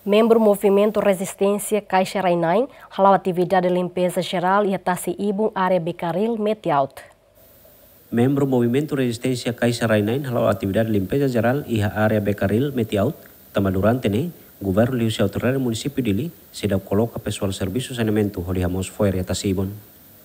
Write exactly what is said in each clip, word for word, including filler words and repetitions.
Membru Movimentu Rezisténsia Kaixa Rainine hala'o atividade limpeza jerál iha tasi-ibun área Bekaril Metiaut. Membru Movimentu Rezisténsia Kaixa Rainine hala'o atividade limpeza jerál iha área Bekaril Metiaut, tanba durante ne'e, governu liuhusi autoridade munisípiu Dili seidauk koloka pesoál servisu saneamentu hodi hamoos fo'er iha tasi-ibun.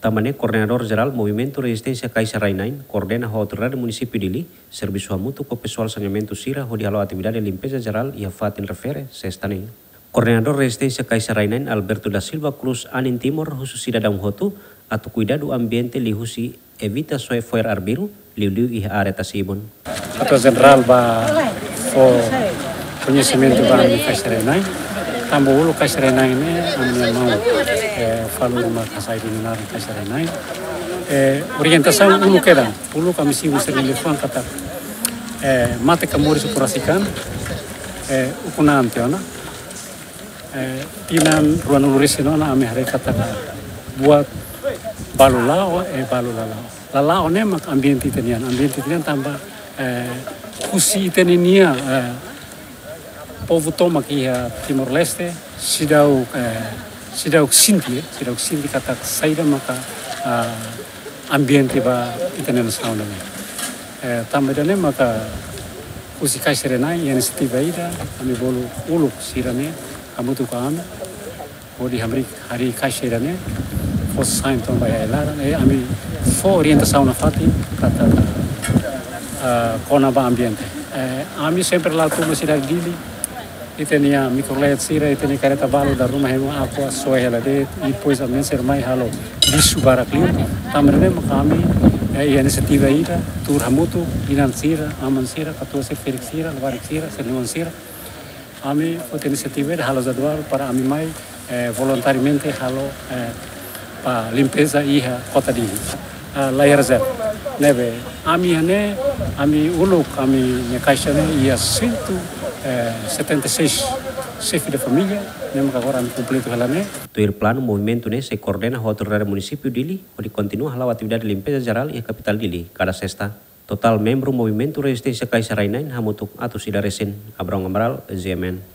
Tanba ne'e, Koordenadór Jerál Movimentu Rezisténsia Kaixa Rainine koordena ho autoridade munisípiu Dili servisu hamutuk ho pesoál saneamentu sira hodi hala'o atividade limpeza jerál iha fatin refere sesta ne'e. Koordenadór Rezisténsia Kaixa Rainine Alberto da Silva Cruz anin Timor husu sidadaun hotu atu kuidadu ambiente liuhusi evita soe fo'er arbiru, liuliu iha área tasi-ibun. Katuas Jenerál ba fó koñesimentu ba ami Kaixa Rainine. Tanba uluk Kaixa Rainine ne'e ami-nia maun, eh, falur mak hasai denominadu Kaixa Rainine. Eh, orientasaun uluk kedan, uluk ami simu sira-nia liafuan katak, eh, mate ka moris ukun rasik an, eh, ukun an tiha ona. Eh, tinan ruanulu-resin-neen ona ami haree katak buat balu la'o, eh, balu la la'o. La la'o ne'e mak ambiente ita-nian, ambiente ita-nian tanba, eh, husi ita-nia, eh, povu tomak iha Timor-Leste, seidauk, eh, seidauk sente, eh, seidauk sente katak saida maka, ah, ambiente ba ita-nia nasaun ne'e. Eh, tanba ida-ne'e maka husi Kaixa Rainine iha inisiativa ida, ami bolu uluk sira-ne'e hamutuk ho ami, hodi hamriik harii kaixa ida-ne'e, fó sai entaun ba iha ai-laran, eh, ami fó orientasaun nafatin katak, ah, kona-ba ambiente. Eh, ami sempre la'o tun ba sidade Dili, ita-nia mikrolet sira, ita-nia karreta balu dala ruma hemu Aqua, soe hela de'it, i depois ami sira mai halo lixu barak liu. Tanba ne'e maka ami, eh, iha inisiativa ida, tuur hamutuk, inan sira, aman sira, katuas sira, ferik sira, labarik sira, sira-nia oan sira. Ami foti inisiativa ida halo jadwal para ami mai, eh, voluntariamente halo, eh, ba limpeza iha kota Dili. Ah, la iha rezerva. Ne'ebé, ami iha ne'e, ami uluk, ami-nia kaixa ne'e iha cento e setenta e seis xefe de família, ne'e maka agora ami kompletu hela ne'e. Tuir planu, movimentu ne'e sei koordena ho autoridade munisípiu Dili, hodi kontinua hala'o atividade limpeza jerál iha kapitál Dili, kada sesta. Totál membru Movimentu Rezisténsia Kaixa Rainine hamutuk atus ida resin. Abrão Amaral, G M N.